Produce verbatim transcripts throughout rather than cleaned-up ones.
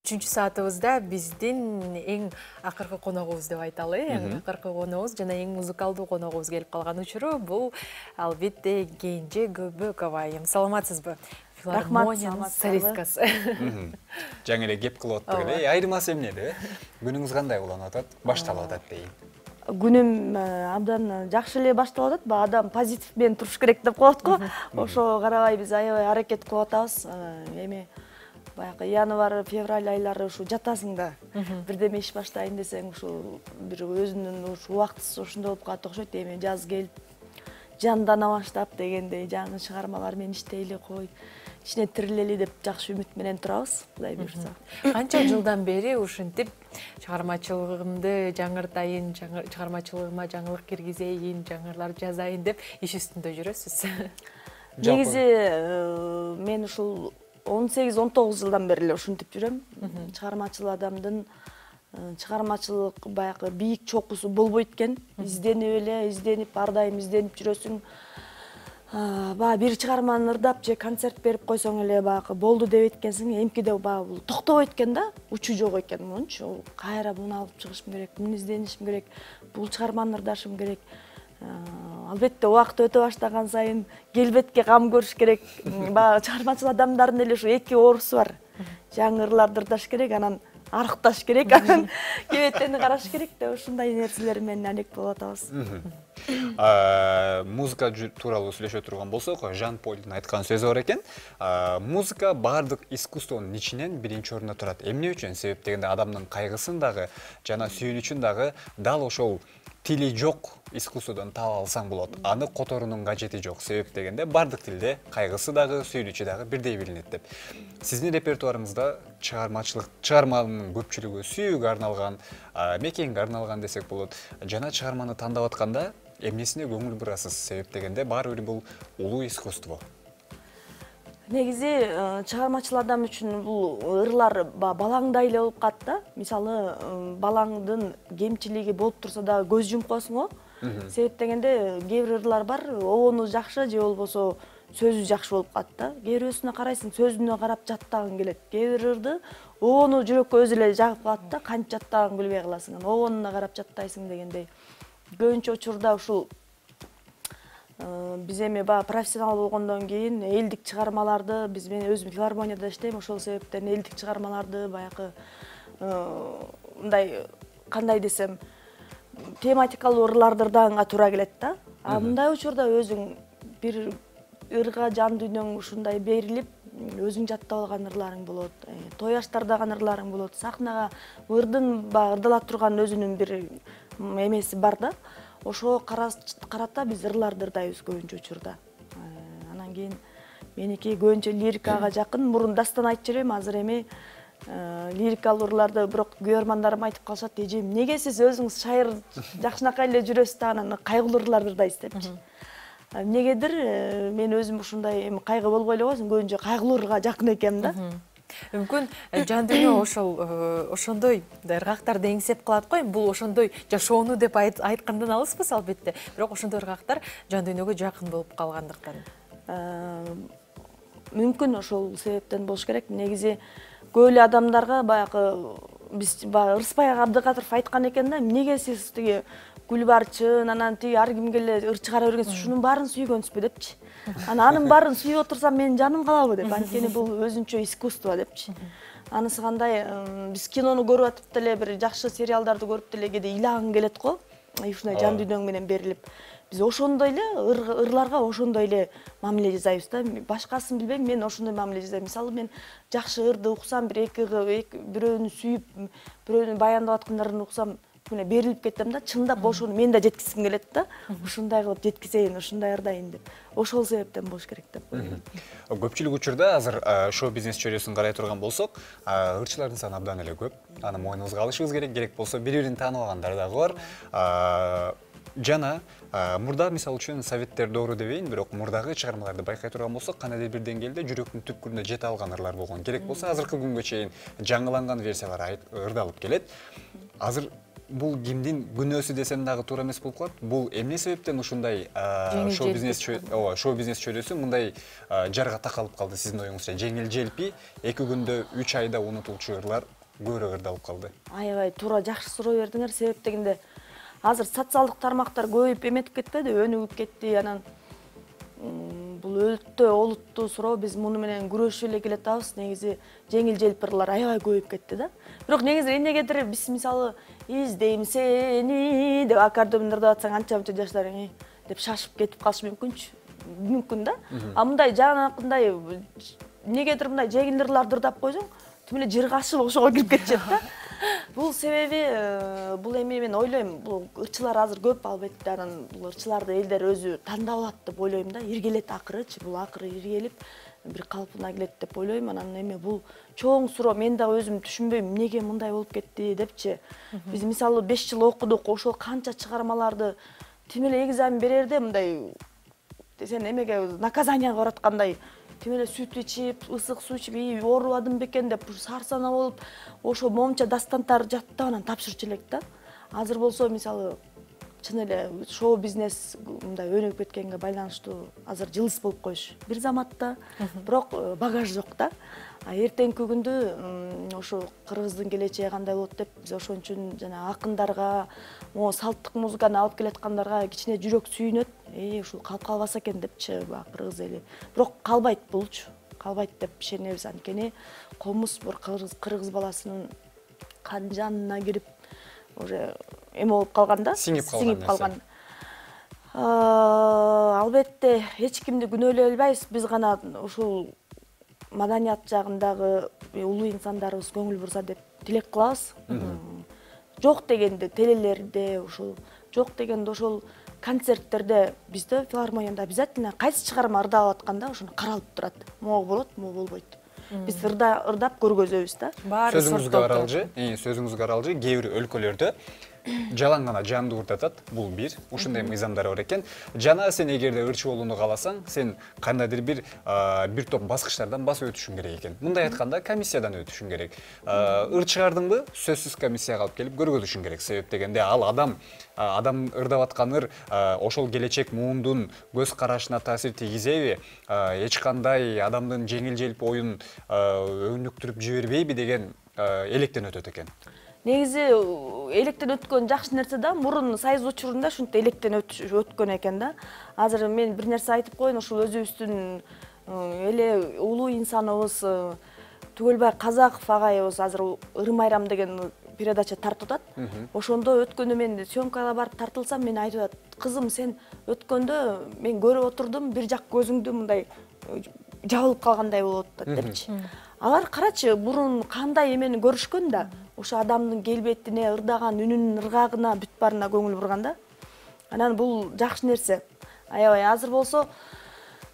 Үчүнчү саатыбызда биздин эң акыркы коногубуз деп айталы. Эң акыркы коногубуз жана эң музыкалдуу коногубуз келип калган учуру бул албетте Кенже Көбөкова айым. Саламатсызбы? Филармониянын солисткасы. Жаңы эле кеп кылып атты эле. Айырмасы эмнеде? Күнүңүз кандай уланып атат? Башталып атат дейин. Күнүм абдан жакшы эле башталып атат. Баягы адам позитив менен туруш керек деп коет го. Ошого карабай биз аябай аракет кылып атабыз. Эми баягы январь, февраль айлары ушу жатасың да. Бирдеме иш баштайын десең, ушу бир өзүнүн ушу убактысы ошондой болуп калат окшойт. Эми жаз келип, жандана баштап дегендей жаңы чыгармалар менен иштейли кой, ичине тирилели деп жакшы үмүт менен турабыз, Кудай буйрса. Канча жылдан бери ушинтип чыгармачылыгымды жаңыртайын, чыгармачылыгыма жаңылык киргизейин, жаңылар жазайын деп иш үстүндө жүрөсүз? Негизи мен ушул он сегиз он тогуз жылдан бери эле ушинтип жүрөм. Чыгармачыл адамдын чыгармачылык баягы бийик чокусу болбойт экен. Изденип эле, изденип, ар дайым изденип жүрөсүң. Баягы бир чыгарманы ырдап же концерт берип койсоң эле баягы болду деп эткенсиң, эмкиде баягы бул токтобойт экен да, учу жок экен мунчу. Кайра буну алып чыгышым керек, муну изденишим керек, бул чыгарманы ырдашым керек. Албетте убакыт өтө баштаган сайын келбетке кам көрүш керек. Баягы чыгармачыл адамдардын эле ушу эки оорусу бар. Жаңы ырларды ырдаш керек, анан арыкташ керек, анан кебетени караш керек деп ушундай нерселер менен алек болуп атабыз. Музыка тууралуу сүйлөшө турган болсок, Жан Полдун айткан сөзү бар экен. Музыка бардык искусствонун ичинен биринчи орунда турат. Эмне үчүн? Себеп дегенде адамдын кайгысын дагы жана сүйүнүчүн дагы дал ошол тили жок искусстводон таап алсаң болот. Аны которуунун кажети жок. Себеп дегенде бардык тилде кайгысы дагы, сүйүнүчү дагы бирдей билинет деп. Сиздин репертуарыңызда чыгармачылык, чыгарманын көпчүлүгү сүйүүгө арналган, мекенге арналган десек болот. Жана чыгарманы тандап атканда эмнесине көңүл бурасыз? Себеп дегенде баары бир бул улуу искусство. Негизи чыгармачыл адам үчүн бул ырлар балаңдай эле болуп калат да. Мисалы, балаңдын кемчилиги болуп турса дагы көз жумуп коесуң го. Себеп дегенде кээ бир ырлар бар, обону жакшы же болбосо сөзү жакшы болуп калат да. Кээ бирөөсүнө карайсың, сөзүнө карап жаттагың келет. Кээ бир ырды обону жүрөккө өзү эле жагып калат да, кантип жаттаганын билбей каласың. Обонуна карап жаттайсың дегендей. Көбүнчө учурда ушул биз эми баягы профессионал болгондон кийин элдик чыгармаларды, биз мен өзүм филармонияда иштейм, ошол себептен элдик чыгармаларды баягы мындай кандай десем, тематикалуу ырларды ырдаганга туура келет да. А мындай учурда өзүң бир ырга жан дүйнөң ушундай берилип, өзүң жаттап алган ырларың болот, той аштардаган ырларың болот. Сахнага ырдын баягы ырдала турган өзүнүн бир эмеси бар да. Ошого карата биз ырларды ырдайбыз көбүнчө учурда. Анан кийин меники көбүнчө лирикага жакын. Мурун дастан айтчу элем, азыр эми лирикалуу ырларды бирок көрөрмандарым айтып калышат, эжем, эмнеге сиз өзүңүз шайыр жакшынакай эле жүрөсүз да, анан кайгылуу ырларды ырдайсыз депчи. Эмнегедир мен өзүм ушундай эми кайгы болбой эле койсун, көбүнчө кайгылуу ырга жакын экенмин да. Мүмкүн жан дүйнө ошол ошондой ыргактарды эңсеп калат го. Бул ошондой жашоону деп айткандан алыспыз албетте. Бирок ошондой ыргактар жан дүйнөгө жакын болуп калгандыктан. Мүмкүн ошол себептен болуш керек. Негизи көп эле адамдарга баягы биз баягы Ырысбай Абдыкадыров айткан экен да, эмнеге сиз тиги Гүлбарчын, анан тиги ар кимге эле ыр чыгара бергенсиз, ушунун баарын сүйгөнсүзбү депчи. Анан анын баарын сүйүп отурсам менин жаным калабы деп, анткени бул өзүнчө искусство депчи. Анысы кандай, биз кинону көрүп атып деле, бир жакшы сериалдарды көрүп деле кээде ыйлагың келет го. Ушундай жан дүйнөң менен берилип. Биз ошондой эле ырларга ошондой эле мамиле жасайбыз да. Башкасын билбейм, мен ошондой мамиле жасайм. Мисалы, мен жакшы ырды уксам, бир эки бирөөнү сүйүп, бирөөнү баяндап аткандарын уксам, мына берилип кетем да, чындап ошону мен да жеткизгим келет да. Ушундай кылып жеткизейин, ушундай ырдайын деп. Ошол себептен болуш керек деп ойлойм. Көпчүлүк учурда азыр шоу-бизнес чөйрөсүн карай турган болсок, ырчылардын саны абдан эле көп. Аны мойнубузга алышыбыз керек, керек болсо бири-бирин тааныбагандар дагы бар. Жана мурда мисалы үчүн советтер доору дебейин, бирок мурдагы чыгармаларды байкай турган болсок, кандайдыр бир деңгээлде жүрөктүн түпкүрүнө жете алган ырлар болгон. Керек болсо азыркы күнгө чейин жаңыланган версиялар ырдалып келет. Азыр бул кимдин күнөөсү десем дагы туура эмес болуп калат. Бул эмне себептен ушундай шоу бизнес ооба шоу бизнес чөйрөсү мындай жарга такалып калды сиздин оюңузча? Жеңил желпи эки күндө үч айда унутулчу ырлар көбүрөөк ырдалып калды. Аябай туура жакшы суроо бердиңер. Себеп дегенде азыр социалдык тармактар көбөйүп эметип кетпеди, өнүгүп кетти. Анан бул өтө олуттуу суроо. Биз муну менен күрөшүп эле келатабыз. Негизи жеңил желпирлар аябай көбөйүп кетти да. Бирок негизи эмнегедир биз мисалы издейм сени деп аккордеондо ырдап атсаң анча-мынча жаштар деп шашып кетип калышы мүмкүнчү. Мүмкүн да. А мындай жанакындай эмнегедир мындай жеңил ырларды ырдап койсоң, тим эле жыргашып ошого кирип кетишет да. Бул себеби бул эми мен ойлойм, бул ырчылар азыр көп албетте, анан бул ырчыларды элдер өзү тандап алат деп ойлойм да. Иргелет акырычы, бул акыры иргелип бир калпына келет деп ойлойм. Анан эми бул чоң суроо, мен дагы өзүм түшүнбөйм эмнеге мындай болуп кетти депчи. Биз мисалы беш жыл окудук, ошол канча чыгармаларды тим эле экзамен берерде мындай сен эмеге наказанияга бараткандай тим эле сүт ичип, ысык суу ичип, оорубадым бекен деп сарсана болуп, ошо момча дастантарды жаттап анан тапшырчу элек да. Азыр болсо мисалы чын эле шоу бизнес мындай өнүгүп кеткенге байланыштуу азыр жылыс болуп коюш бир заматта, бирок багаж жок да. А эртеңки күндү ошо кыргыздын келечеги кандай болот деп биз ошон үчүн жана акындарга, могу салттык музыканы алып келаткандарга кичине жүрөк сүйүнөт. Э, ушул калып калбаса экен депчи баа кыргыз эли. Бирок калбайт булчу. Калбайт деп ишенебиз, анткени комуз бир кыргыз баласынын кан жанына кирип уже эме болуп калган да, сиңип калган. Албетте эч кимди күнөөлөй албайбыз. Биз гана ушул маданият жагындагы улуу инсандарыбыз көңүл бурса деп тилек кылабыз. Жок дегенде телелерде, ушул жок дегенде ошол концерттерде бизде филармонияда обязательно кайсы чыгарма ырдалып атканда ошону каралып турат. Могу болот, могу болбойт. Биз ырдап көргөзөбүз да. Сөзүңүзгө каралжы, сөзүңүзгө каралжы, кээ бир өлкөлөрдө жалаң гана жанды ырдатат, бул бир, ушундай мыйзамдар бар экен. Жана сен эгерде ырчы болууну кааласаң, сен кандайдыр бир бир топ баскычтардан басып өтүшүң керек экен. Мындай айтканда, комиссиядан өтүшүң керек. Ырчыгардыңбы сөзсүз комиссияга алып келип көргөзүшүң керек. Себеп дегенде ал адам адам ырдап аткан ыр ошол келечек муундун көз карашына таасир тийгизеби, эч кандай адамдын жеңил желпи оюн өнүктүрүп жибербейби деген электен өтөт экен. Негизи электен өткөн жакшы нерсе да, мурун сайыз учурунда ушинтип электен өткөн экен да. Азыр мен бир нерсе айтып коеюн, ушул өзүбүздүн эле улуу инсаныбыз Түгөлбай Казаков агайыбыз азыр Ырым айрам деген передача тартып атат. Ошондо өткөндө мен съемкага барып тартылсам, мен айтып атат: "Кызым, сен өткөндө мен көрүп отурдум, бир жак көзүңдү мындай жабылып калгандай болуп атат" депчи. Алар карачы, мурун кандай эмени көрүшкөн да, ошо адамдын келбетине, ырдаган үнүнүн ыргагына, бүт баарына көңүл бурган да. Анан бул жакшы нерсе. Аябай азыр болсо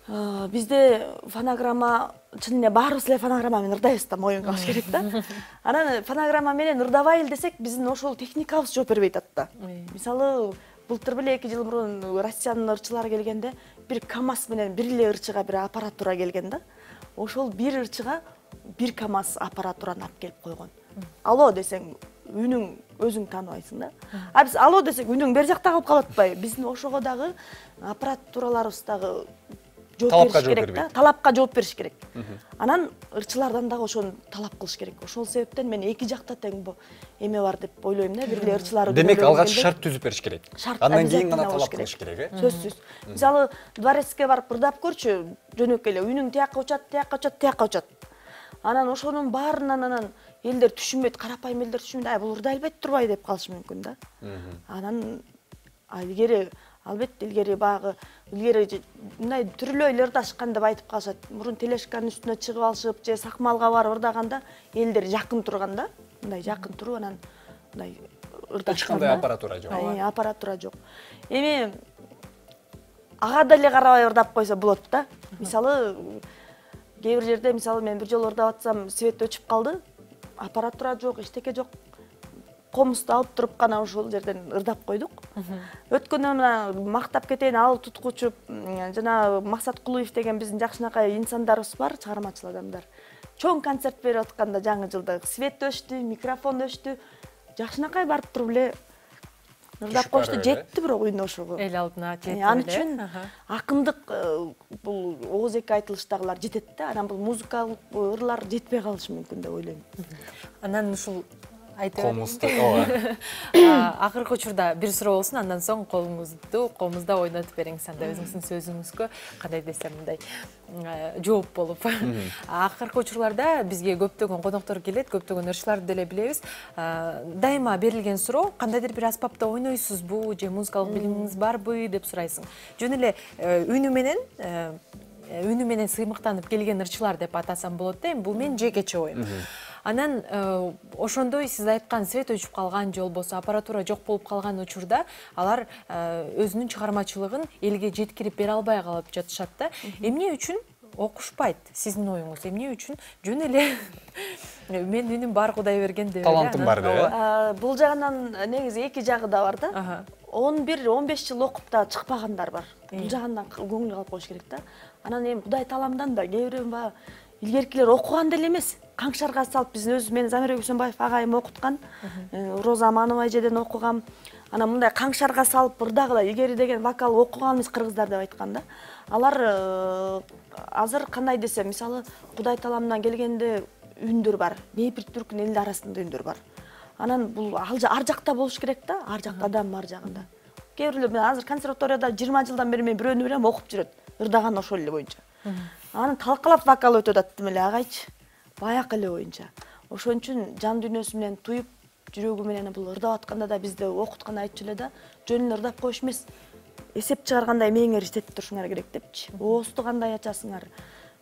бизде фонограмма, чын эле баарыбыз эле фонограмма менен ырдайбыз да, моюнга алыш керек да. Анан фонограмма менен ырдабайлы десек, биздин ошол техникабыз жооп бербей атат да. Мисалы, былтыр беле эки жыл мурун Россиянын ырчылары келгенде, бир КамАЗ менен бир эле ырчыга бир аппаратура келген да. Ошол бир ырчыга бир КамАЗ аппаратураны алып келип койгон. Алло десең, үнүң өзүң тааныбайсың да. А биз алло десек, үнүң бер жакта калып калып атпайбы? Биздин ошого дагы аппаратураларыбыз дагы жооп бериш керек да. Талапка жооп бериш керек. Анан ырчылардан дагы ошону талап кылыш керек. Ошол себептен мен эки жакта тең эме бар деп ойлойм да. Бир эле ырчылар. Демек, алгач шарт түзүп бериш керек. Андан кийин гана талап кылыш керек, э? Сөзсүз. Мисалы, дворецке барып ырдап көрчү, жөнөкөй эле үнүң тияка учат, тияка учат, тияка учат. Анан ошонун баарынан анан элдер түшүнбөйт, карапайым элдер түшүнбөйт, ай бул ырдай албайт турбай деп калышы мүмкүн да. Анан илгери албетте илгери багы илгери мындай түрлүү эле ырдашкан деп айтып калышат. Мурун телешканын үстүнө чыгып алышып, же сакмалга барып ырдаганда элдер жакын турган да. Мындай жакын туруп анан мындай ырдашкан. Эч кандай аппаратура жок. Аппаратура жок. Эми ага деле карабай ырдап койсо болот да. Мисалы, кээ бир жерде, мисалы, мен бир жолу ырдап атсам, свет өчүп калды. Аппаратура жок, эчтеке жок. Комузду алып туруп гана ошол жерден ырдап койдук. Өткөндө мына мактап кетейин, ал туткучу жана Максат Кулуев деген биздин жакшынакай инсандарыбыз бар, чыгармачыл адамдар. Чоң концерт берип атканда жаңы жылда свет өчтү, микрофон өчтү. жакшынакай барып туруп эле ырдап коюшту, жетти бирок ойношугу. Эл алдына жетти. Ал үчүн акындык бул ооз эки айтылыштагылар жетет да, анан бул музыкалык ырлар жетпей калышы мүмкүн деп ойлойм. Анан ушул айтып комузду, ооба. Акыркы учурда бир суроо болсун, андан соң колуңузду комузда ойнотуп бериңиз, анда өзүңүздүн сөзүңүзгө кандай десем мындай жооп болуп. Акыркы учурларда бизге көптөгөн коноктор келет, көптөгөн ырчыларды деле билебиз. Дайыма берилген суроо, кандайдыр бир аспапта ойнойсузбу же музыкалык билимиңиз барбы деп сурайсың. Жөн эле үнү менен үнү менен сыймыктанып келген ырчылар деп атасам болот да, бул менин жекече оюм. Анан ошондой сиз айткан свет өчүп калган же болбосо аппаратура жок болуп калган учурда алар өзүнүн чыгармачылыгын элге жеткирип бере албай калып жатышат да. Эмне үчүн окушпайт сиздин оюңуз? Эмне үчүн жөн эле мен үнүм бар Кудай берген деп эле. Талантым бар деп. Бул жагынан негизи эки жагы да бар да. он бир он беш жыл окуп да чыкпагандар бар. Бул жагынан көңүл алып коюш керек да. Анан эми Кудай таламдан да кээ бирөө баягы илгеркилер окуган деле эмес. Каңшарга салып биздин өзү мен Замирбек Үсөнбаев агайым окуткан, Роза Аманова эжеден окугам. Анан мындай каңшарга салып ырдагыла илгери деген вокал окуган эмес кыргыздар деп айткан да. Алар азыр кандай десем, мисалы Кудай таламдан келгенде үндөр бар. Небир түркүн элди арасында үндөр бар. Анан бул ар жакта болуш керек да, ар жакта адам ар жагында. Кээ бирлер мен азыр консерваторияда жыйырма жылдан бери мен бирөөнү билем окуп жүрөт. Ырдаган ошол эле боюнча. Анан талкалап вокал өтүп атат эле агайчы. Баякы эле боюнча. Ошон үчүн жан дүйнөсү менен туюп, жүрөгү менен бул ырдап атканда да бизде окуткан айтчу эле да, жөн эле ырдап коюш эмес. Эсеп чыгаргандай мээңер иштетип турушуңар керек депчи. Оозду кандай ачасыңар,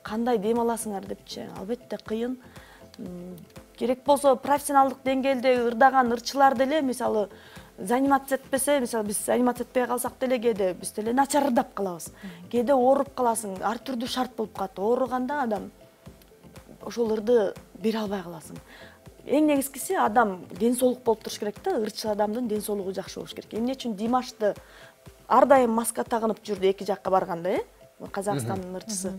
кандай дем аласыңар депчи. Албетте кыйын. Керек болсо профессионалдык деңгээлде ырдаган ырчылар деле, мисалы, занимация этпесе, мисалы биз занимация этпей калсак деле кээде биз деле начар ырдап калабыз. Кээде ооруп каласың, ар түрдүү шарт болуп калат. Ооруганда адам ошол ырды бере албай каласың. Эң негизгиси адам ден соолук болуп туруш керек да, ырчы адамдын ден соолугу жакшы болуш керек. Эмне үчүн Димашты ар дайым маска тагынып жүрдү эки жакка барганда, э? Казакстандын ырчысы.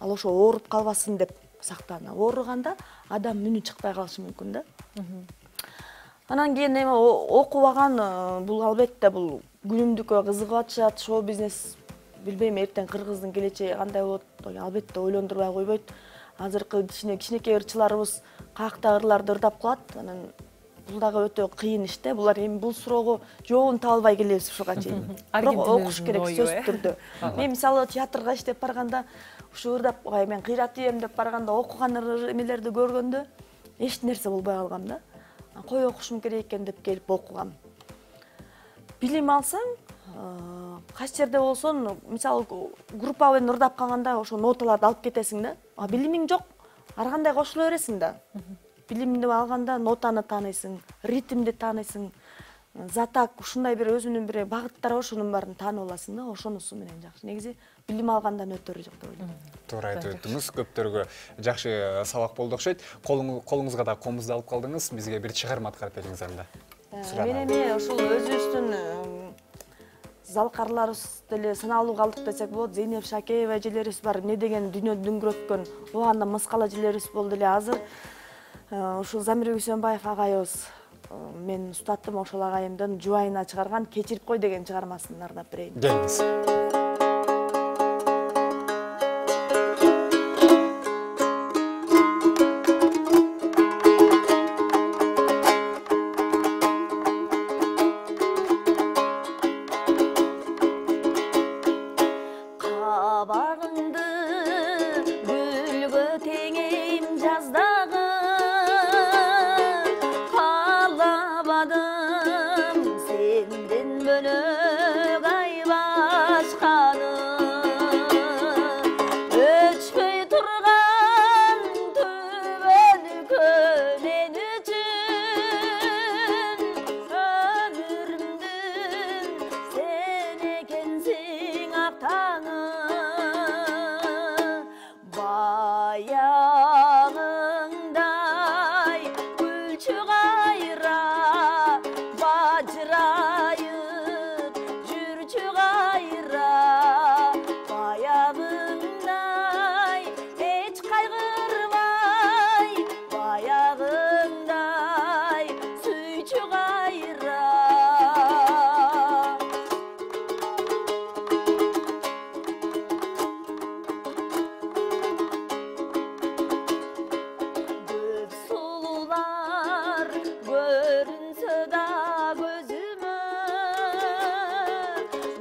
Ал ошо ооруп калбасын деп сактана. Ооруганда адам үнү чыкпай калышы мүмкүн да. Анан кийин эми окубаган бул албетте бул күнүмдүккө кызыгып атышат, шоу бизнес билбейм эртең кыргыздын келечеги кандай болот, албетте ойлондурбай койбойт. Азыркы кичинекей ырчыларыбыз каакта ырларды ырдап калат. Анан бул дагы өтө кыйын иш да. Булар эми бул суроого жообун таба албай келебиз ушуга чейин. Бирок окуш керек сөзсүз түрдө. Мен мисалы театрга иштеп барганда ушу ырдап, мен кыйрат ийем деп барганда окуган эмелерди көргөндө эч нерсе болбой калгам да. Кой окушум керек экен деп келип окугам. Билим алсаң, кайсы жерде болсун, мисалы группа менен ырдап калганда ошо ноталарды алып кетесиң да. А билимиң жок, ар кандай кошула бересиң да. Билимди алганда нотаны тааныйсың, ритмди тааныйсың, затак ушундай бир өзүнүн бир багыттары бар, ошонун баарын таанып аласың да, ошонусу менен жакшы. Негизи билим алгандан өтөрү жок деп ойлойм. Туура айтып өттүңүз, көптөргө жакшы сабак болду окшойт. Колуңузга да комузду алып калдыңыз, бизге бир чыгарма аткарып бериңиз анда. Мен эми ушул өзүбүздүн залкарларыбыз деле саналуу калдык десек болот. Зейнеп Шакеева эжелерибиз бар, эмне деген дүйнө дүңгүрөткөн, ооганда мыскала эжелерибиз болду эле. Азыр ушул Замирбек Үсөнбаев агайыбыз мен устатым, ошол агайымдын жубайына чыгарган «Кечирип кой» деген чыгармасын ырдап берейин. Келиңиз. Senden bölük ay başka көрүнсө да көзүмө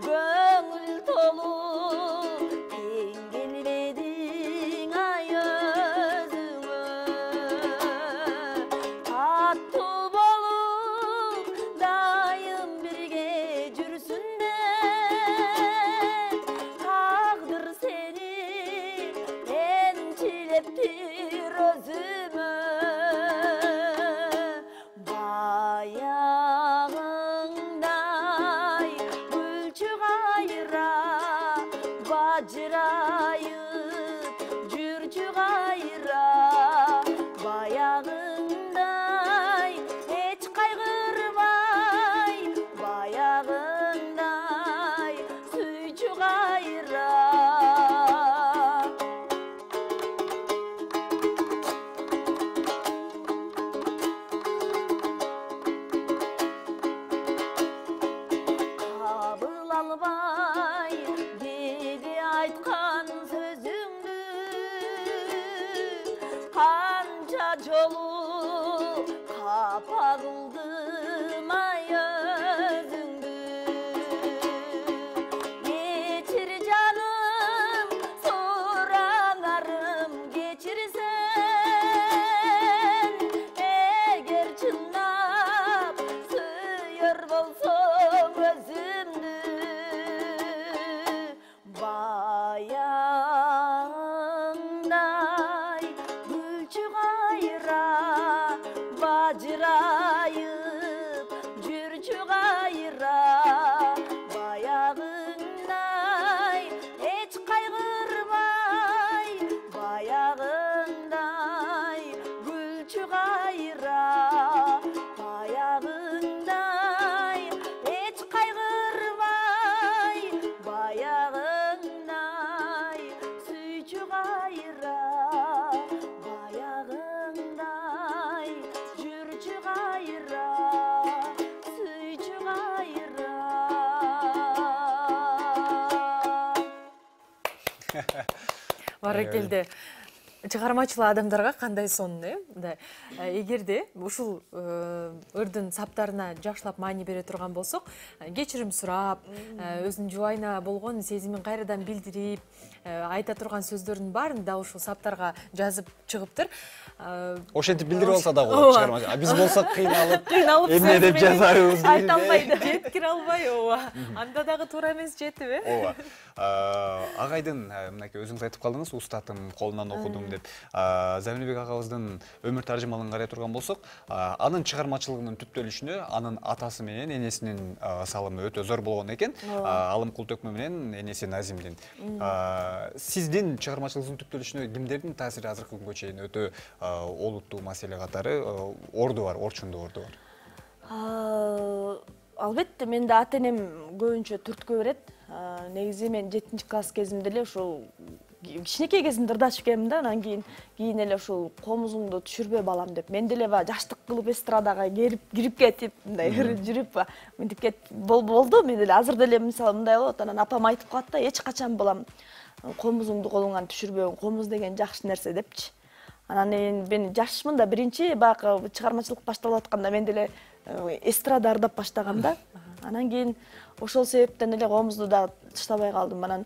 көңүл толу тең келбедиң ай өзүңө аттуу болуп дайым бирге жүрсүн деп тагдыр сени энчилептир өзүмө баягыңдай гүлчү кайра бажырайып жүрчү кайра баягыңдай эч кайгырбай баягыңдай сүйчү кайра кабыл албай кээде айткан сөзүңдү канча жолу капа кылдым ай өзүңдү кечир жаным сураңарым кечирсең эгер чындап сүйөр болсоң өзүмдү баягыңдай гүлчү кайра бажырайып жүрчү кайра баягыңдай эч кайгырбай баягыңдай гүлчү кайра баягыңдай эч кайгырбай баягыңдай сүйчү кайра баягыңдай жүрчү кайра сүйчү кайра. Баракелде. Чыгармачыл адамдарга кандай сонун, э? Мындай, эгерде ушул ырдын саптарына жакшылап маани бере турган болсок, кечирим сурап, өзүнүн жубайына болгон сезимин кайрадан билдирип, айта турган сөздөрдүн баарын да ушул саптарга жазып чыгыптыр. Ошентип билдирип алса да болот чыгармачы. Биз болсок кыйналып, кыйналып эмне деп жазабыз, айта албайт. жеткире албай, ооба. Анда дагы туура эмес жетип, э? Ооба. Агайдын мынакей өзүңүз айтып калдыңыз, устатым колунан окудум деп. Замирбек агабыздын өмүр таржымалын карай турган болсок, анын чыгармачылыгынын түптөлүшүнө анын атасы менен энесинин салымы өтө зор болгон экен. Алым Култөкмө менен энеси Назимдин. Сиздин чыгармачылыгыңыздын түптөлүшүнө кимдердин таасири азыркы күнгө чейин өтө олуттуу маселе катары орду бар, орчундуу орду бар? Албетте, менде ата-энем көбүнчө түрткү берет. Негизи мен жетинчи класс кезимде эле ушул кичинекей кезимде ырдашып келем да, анан кийин кийин эле ушул комузуңду түшүрбө балам деп. Мен деле баягы жаштык кылып эстрадага кирип кирип кетип, мындай жүрүп мынтип кетип болду. Мен деле азыр деле мисалы мындай болот. Анан апам айтып калат да, эч качан балам комузуңду колуңан түшүрбөгүн, комуз деген жакшы нерсе депчи. Анан мен жашмын да, биринчи баягы чыгармачылык башталып атканда мен деле эстрада ырдап баштагам да. Анан кийин ошол себептен эле комузду да таштабай калдым. Анан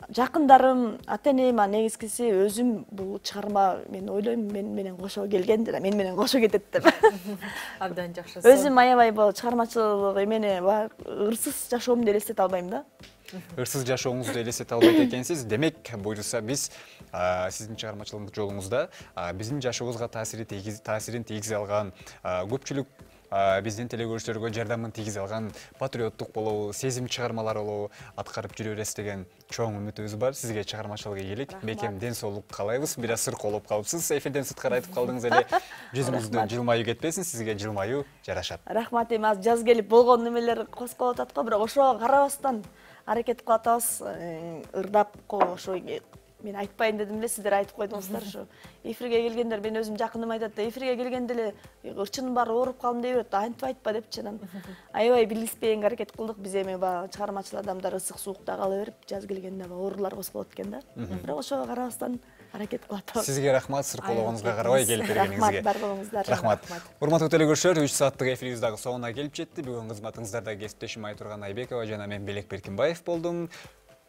жакындарым, ата-энем, негизгиси өзүм бул чыгарма мен ойлойм мен менен кошо келген да, мен менен кошо кетет деп. Абдан жакшы. Өзүм аябай бул чыгармачылык эмени ырсыз жашоомду элестете албайм да. Ырсыз жашооңузду элестете албайт экенсиз. Демек, буюрса биз сиздин чыгармачылык жолуңузда биздин жашообузга таасирин тийгизе алган, көпчүлүк биздин телекөрүүчүлөргө жардамын тийгизе алган патриоттук болобу, сезим чыгармалар болобу аткарып жүрө бересиз деген чоң үмүтүбүз бар. Сизге чыгармачылык ийгилик, бекем ден соолук каалайбыз. Бир аз сыркоолоп калыпсыз. Эфирден сырткары айтып калдыңыз эле. Жүзүңүздөн жылмаюу кетпесин, сизге жылмаюу жарашат. Рахмат, эми азыр жаз келип болгон немелер козголуп атат го, бирок ошого карабастан аракет кылып атабыз. Ырдап ошо мен айтпайын дедим эле, сиздер айтып койдуңуздар. Ушу эфирге келгендер, мен өзүм жакыным айтат да, эфирге келгенде эле ырчынын баары ооруп калдым дей берет. Антип айтпа депчи. Анан аябай билиспегенге аракет кылдык. Биз эми баягы чыгармачыл адамдар ысык суукта кала берип, жаз келгенде оорулар козголот экен да. Бирок ошого карабастан аракет кылып атабыз. Сизге рахмат, сыркоологонуңузга карабай келип бергениңизге. Рахмат, бар болуңуздар. Рахмат. Урматтуу телекөрүүчүлөр, үч сааттык эфирибиз дагы соңуна келип жетти. Бүгүн кызматыңыздарда кесиптешим Айтурган Айбекова жана мен Белек Беркинбаев болдум.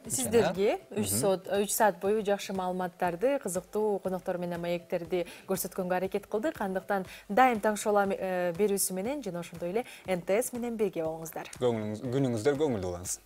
Сиздерге үч саат бою жакшы маалыматтарды, кызыктуу коноктор менен маектерди көрсөткөнгө аракет кылдык. Андыктан дайым таң шоу берүүсү менен жана ошондой эле эн тэ эс менен бирге болуңуздар. Күнүңүздөр көңүлдүү болсун.